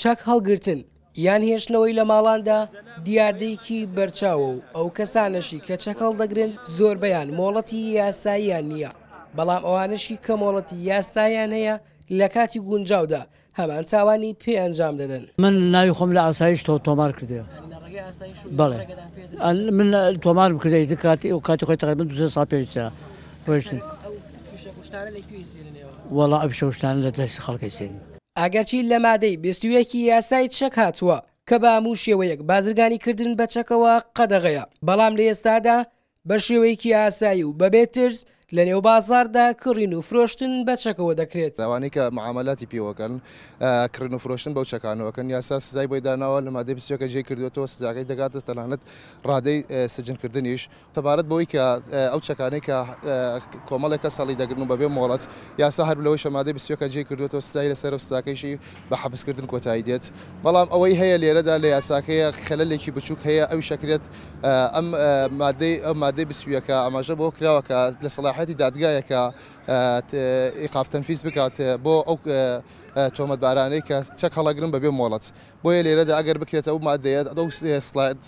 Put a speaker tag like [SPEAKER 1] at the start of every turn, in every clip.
[SPEAKER 1] چەک هەڵگرتن یان هێشتنەوەی لە ماڵاندا دیاردەیەکی بەرچاوە و ئەو کەسانەشی کە چەک هەڵدەگرن زۆربەیان مۆڵەتی یاساییان نییە، بەڵام ئەوانەشی کە مۆڵەتی یاساییان هەیە لە کاتی گونجاودا هەمان تاوانی پێ ئەنجام دەدەن.
[SPEAKER 2] من ناوی خۆم لە ئاسایش تۆمار کردێ. بەڵێ من تۆمارم کردێ ئیتر کاتی ئەو کاتی خۆی تقریبا دو سێ ساڵ پێش ئێستا ڕۆیشتن. وەڵا ئەو فیشەکوشتانە لە دەستی خەڵکەی سێنن.
[SPEAKER 1] ئەگەرچی لە مادەی 21 ی یاسای چەک هاتووە کە بە هەموو شێوەیەک بازرگانیکردن بە چەکەوە قەدەغەیە، بەڵام لە ئێستادا بە شێوەیەکی ئاسایی و بەبێ ترس لە نێو بازاڕدا کڕین و فرۆشتن بە چەکەوە دەکرێت.
[SPEAKER 3] ئەوانەی کە معامەلاتی پێوەکەن، کڕین و فرۆشتن بەو چەکانەوە کەن، یاسا سزای بۆی داناوە، لە مادەی 21 جێی کردووەتەوە، سزاکەی دەگاتە تەنانەت ڕادەی سجنکردنیش. سەبارەت بەوەی کە ئەو چەکانەی کە کۆمەڵێک کەس هەڵیدەگرن و بەبێ مۆڵەت، یاسا هەر لەوەیشە مادەی 21 جێی کردووەتەوە، سزای لەسەرە و سزاکەیشی بە حەبسکردن کۆتایی دێت. بەڵام ئەوەی هەیە لێرەدا لە یاساکەیە خەلەلێکی بچووک هەیە، ئەویش ئەکرێت ئەم مادەی ئەو مادەی 21 ئاماژە بەوە کراوە کە لە سەڵاحیەتی دادگایە کە ئیقاف تەنفیز بکات بۆ ئەو تۆمەتبارانەی کە چەک هەڵەگرن بەبێ مۆڵەت. بۆیە لێرەدا ئەگەر بکرێت ئەو مادەیە ئەو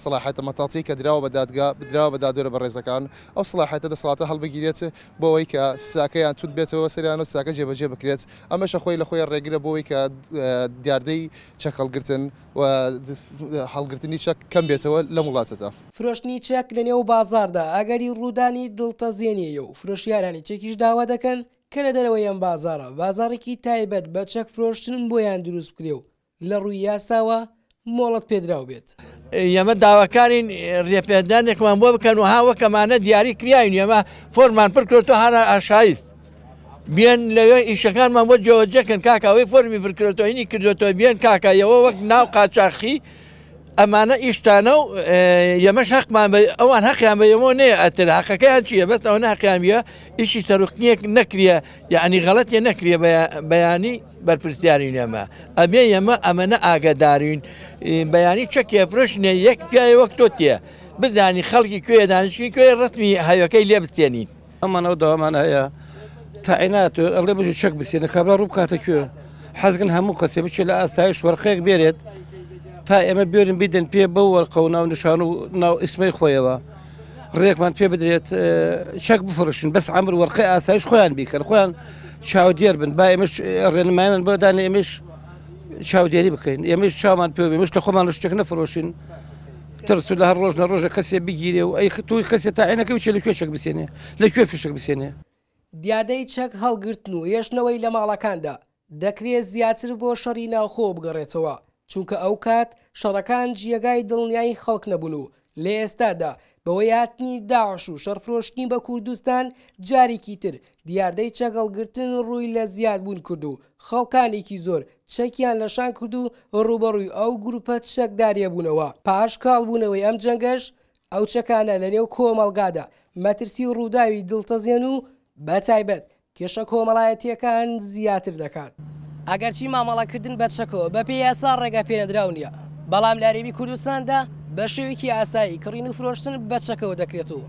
[SPEAKER 3] سەڵاحیەتە مەتاڵتیەی کە دراوە بە دادگا دراوە بە دادوەرە بەڕێزەکان ئەو سەڵاحیەتە دەسەڵاتە هەڵبگیرێت بۆ ئەوەی کە سزاکەیان توند بێتەوە سەریان و سزاکە جێبەجێ بکرێت ئەمەشە خۆی لە خۆی ڕێگرە بۆ ئەوەی کە دیاردەی چەک هەڵگرتن و هەڵگرتنی چەک کەم بێتەوە لەم وڵاتەدا.
[SPEAKER 1] فرۆشتنی چەک لەنێو بازاڕدا ئەگەری ڕوودانی دڵتەزێنییە و فرۆشیارانی چەکیش داوا دەکەن کە لە دەرەوەی ئەم بازاڕە بازاڕێکی تایبەت بە چەک فرۆشتن بۆیان دروست بکرێ و لە ڕووی یاساوە مۆڵەت پێدراو بێت.
[SPEAKER 4] ئێمە داواکارین رێپێدانێکمان بۆ بکەن و ها وەک ئەمانە دیاری کریاین، ئێمە فۆرمان پڕ کردووە هەر ئاشایست بێن لەوێ ئیشەکانمان بۆ جێوەجێکن کاکە، ئەوەی فۆرمی پڕ کردووە هینی کردووەتەوە بێن کاکە، ئێوە وەک ناو قاچاخی ئەمانە ئیشتانە و ئێمەش هەقمان بە ئەوان هەقیان بە ئێمەوە نەیە، ئەتر هەقەکەیان چییە؟ بەس ئەوەنە هەقیان بیە ئیشی سەرقنیەک نەکریە، یعنی غەڵەتێ نەکریە بەیانی بەرپرسیارین ئێمە ئەبێ ئێمە ئەمەنە ئاگادارین بەیانی چەکێ فرۆشنێ یەک پیاوێ وەک تۆ تێ بزانی خەڵکی کوێ دانیشتوی کوێ ڕەسمی هەوێکەی لێ بستێنین.
[SPEAKER 5] ئەمان ئەو داوامان هەیە تاعینات ئەڵێ بژی چەک بسێنە کابرا ڕوو بکاتە کوێ حەزگن هەموو کەسێ بچێت لە ئاسایش وەرقەیەک بێرێت تا ئێمە بێرن بیدەن پێ بەو وەرقە و ناو نیشان و ناو ئیسمەی خۆیەوە ڕێکمان پێ بدرێت چەک بفرۆشن بەس عەمر وەرقەی ئاسایش خۆیان بیکەن خۆیان چاودێر بن با ئێمەش ڕێنمایان بۆ دانێ ئێمەش چاودێری بکەین ئێمەش چاومان پێ بێ مش لە خۆمان شتێک نەفرۆشین ترس لە هەر ڕۆژ نە ڕۆژە کەسێ بگیرێ و ئەی توی کەسێ تاعینەکە بچێ لە کوێ چەک بسێنێ لە کوێ فشک بسێنێ.
[SPEAKER 1] دیاردەی چەک هەڵگرتن و هێشتنەوەی لە ماڵەکاندا دەکرێ زیاتر بۆ شەڕی ناوخۆ بگەڕێتەوە، چونکە ئەوکات شەڕەکان جێگای دڵنیایی خەڵک نەبوون و لە ئێستادا بەهۆی هاتنی داعش و شەڕفرۆشتنی بە کوردستان جارێکی تر دیاردەی چەکهەڵگرتن ڕووی لە زیادبوون کرد و خەڵکانێکی زۆر چەکیان لە شان کرد و ڕووبەڕووی ئەو گروپە چەکداریە بوونەوە، پاش کاڵبوونەوەی ئەم جەنگەش ئەو چەکانە لەنێو کۆمەڵگادا مەترسی ڕووداوی دڵتەزێن و بەتایبەت کێشە کۆمەڵایەتییەکان زیاتر دەکات. ئەگەرچی مامەڵەکردن بە چەکەوە بەپێی یاسا ڕێگەپێنەدراو نییە، بەڵام لە هەرێمی کوردستاندا بە شێوەیەکی ئاسایی کڕین و فرۆشتن بە چەکەوە دەکرێت و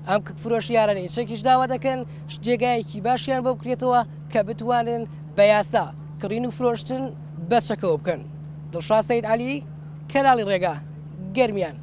[SPEAKER 1] ئەم فرۆشیارانەی چەکیش داوا دەکەن جێگایەکی باشیان بۆ بکرێتەوە کە بتوانن بە یاسا کڕین و فرۆشتن بە چەکەوە بکەن. دڵشاد سەید عەلی، کەناڵی ڕێگا، گەرمیان.